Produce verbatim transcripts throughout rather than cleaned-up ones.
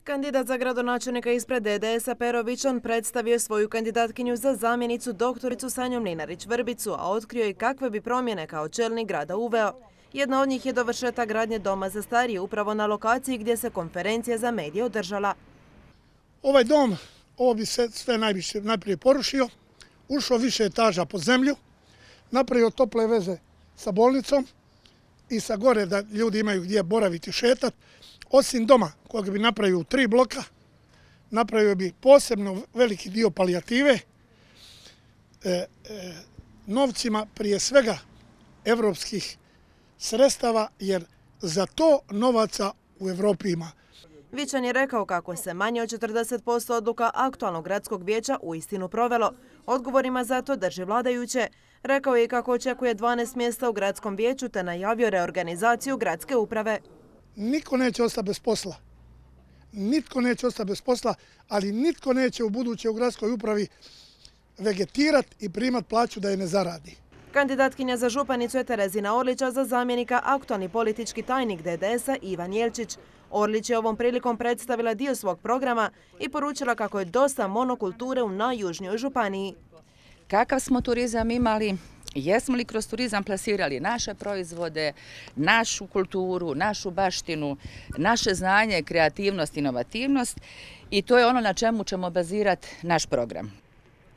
Kandidat za gradonačelnika ispred D D S-a Pero Vičan predstavio svoju kandidatkinju za zamjenicu doktoricu Sanju Mlinarić-Vrbicu, a otkrio i kakve bi promjene kao čelnik grada uveo. Jedna od njih je dovršetak gradnje doma za starije upravo na lokaciji gdje se konferencija za medije održala. Ovaj dom, ovo bi se sve najviše, najprije porušio, ušao više etaža pod zemlju, napravio tople veze sa bolnicom i sa gore da ljudi imaju gdje boraviti i šetati. Osim doma kojeg bi napravio u tri bloka, napravio bi posebno veliki dio palijative, e, e, novcima prije svega evropskih sredstava, jer za to novaca u Evropi ima. Vičan je rekao kako se manje od četrdeset posto odluka aktualnog gradskog vijeća uistinu provelo. Odgovorima za to drži vladajuće. Rekao je i kako očekuje dvanaest mjesta u gradskom vijeću te najavio reorganizaciju gradske uprave. Niko neće ostati bez posla. Nitko neće ostati bez posla, ali nitko neće u buduće u gradskoj upravi vegetirati i primati plaću da je ne zaradi. Kandidatkinja za županicu je Terezina Orlić, a za zamjenika aktualni politički tajnik D D S-a Ivan Jelčić. Orlić je ovom prilikom predstavila dio svog programa i poručila kako je dosta monokulture u najjužnijoj županiji. Kakav smo turizam imali? Jesmo li kroz turizam plasirali naše proizvode, našu kulturu, našu baštinu, naše znanje, kreativnost, inovativnost i to je ono na čemu ćemo bazirati naš program.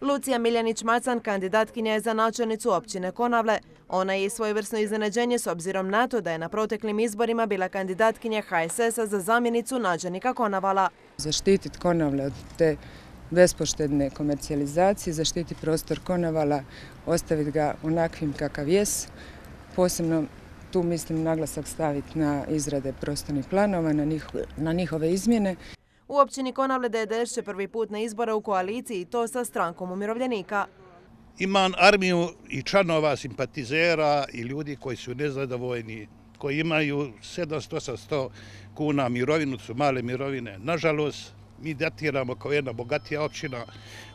Lucija Miljanić-Macan kandidatkinja je za načelnicu općine Konavle. Ona je i svojevrsno iznenađenje s obzirom na to da je na proteklim izborima bila kandidatkinja H S S-a za zamjenicu načelnika Konavala. Zaštititi Konavle od te bespoštedne komercijalizacije, zaštiti prostor Konavala, ostaviti ga onakvim kakav jes. Posebno tu mislim naglasak staviti na izrade prostornih planova, na, njih, na njihove izmjene. U općini Konavle D D S će prvi put na izbore u koaliciji i to sa strankom umirovljenika. Imam armiju i članova, simpatizera i ljudi koji su nezadovoljni, koji imaju sedamsto do osamsto kuna mirovinu, su male mirovine. Nažalost, mi datiramo kao jedna bogatija općina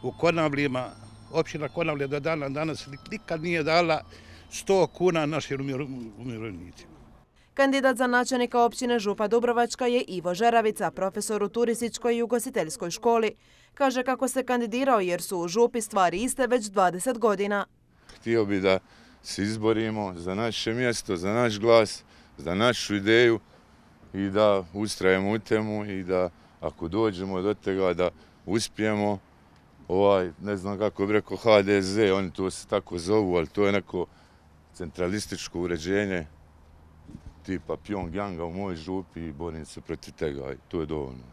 u Konavljima. Općina Konavlje do dana danas nikad nije dala sto kuna našim umirovljenicima. Kandidat za načelnika općine Župa Dubrovačka je Ivo Žeravica, profesor u turističkoj i ugostiteljskoj školi. Kaže kako se kandidirao jer su u Župi stvari iste već dvadeset godina. Htio bi da se izborimo za naše mjesto, za naš glas, za našu ideju i da ustrajemo u temu i da ako dođemo do toga da uspijemo, ovaj, ne znam kako bi rekao H D Z, oni to se tako zovu, ali to je neko centralističko uređenje tipa Pyongyanga u mojoj Župi i borim se protiv toga i to je dovoljno.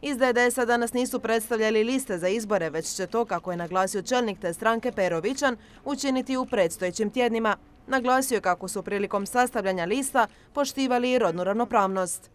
Iz D D S-a danas nisu predstavljali liste za izbore, već će to, kako je naglasio čelnik te stranke Pero Vičan, učiniti u predstojećim tjednima. Naglasio je kako su prilikom sastavljanja lista poštivali i rodnu ravnopravnost.